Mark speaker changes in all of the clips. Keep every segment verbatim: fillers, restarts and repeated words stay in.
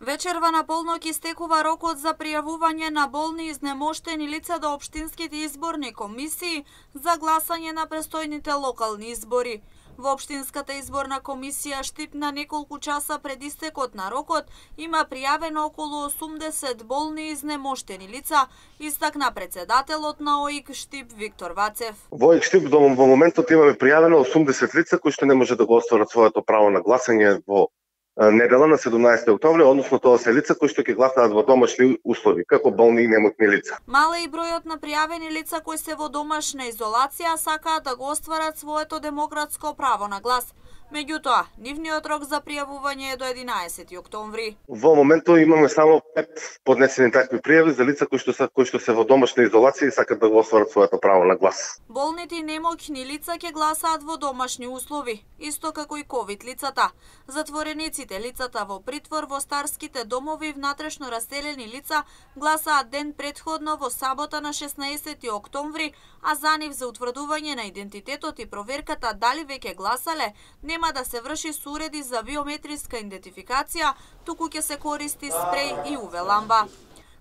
Speaker 1: Вечерва на полнок истекува рокот за пријавување на болни и изнемоштени лица до општинските изборни комисии за гласање на престојните локални избори. Во Општинската изборна комисија Штип на неколку часа пред истекот на рокот има пријавено околу осумдесет болни и изнемоштени лица, истакна председателот на О И К Штип Виктор Вацев.
Speaker 2: Во О И К Штип до во моментот имаме пријавено осумдесет лица кои што не може да го остварат своето право на гласање во недела на седумнаесети октомври, односно тоа се лица кои што ќе гласаат во домашни услови, како болни и немотни лица.
Speaker 1: Мал е и бројот на пријавени лица кои се во домашна изолација, сакаат да го остварат своето демократско право на глас. Меѓутоа, нивниот рок за пријавување е до единаесети октомври.
Speaker 2: Во моментот имаме само пет поднесени такви пријави за лица кои што се кои што се во домашна изолација и сакаат да го остварат своето право на глас.
Speaker 1: Болните и немоќни лица ќе гласаат во домашни услови, исто како и ковид лицата. Затворениците, лицата во притвор, во старските домови и внатрешно раселени лица гласаат ден претходно во сабота на шеснаесети октомври, а за нив за утврдување на идентитетот и проверката дали веќе гласале нема да се врши со уреди за биометриска идентификација, туку ќе се користи спреј и У В ламба.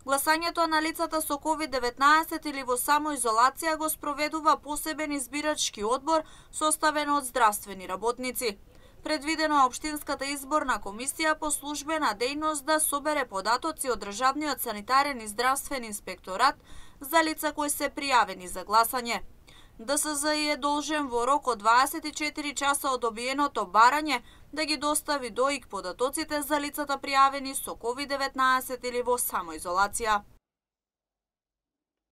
Speaker 1: Гласањето на лицата со ковид деветнаесет или во самоизолација го спроведува посебен избирачки одбор составен од здравствени работници. Предвидено е Општинската изборна комисија по службена дејност да собере податоци од Државниот санитарен и здравствен инспекторат за лица кои се пријавени за гласање. Д С З И е должен во рок од дваесет и четири часа од добиеното барање да ги достави до О И К податоците за лицата пријавени со ковид деветнаесет или во самоизолација.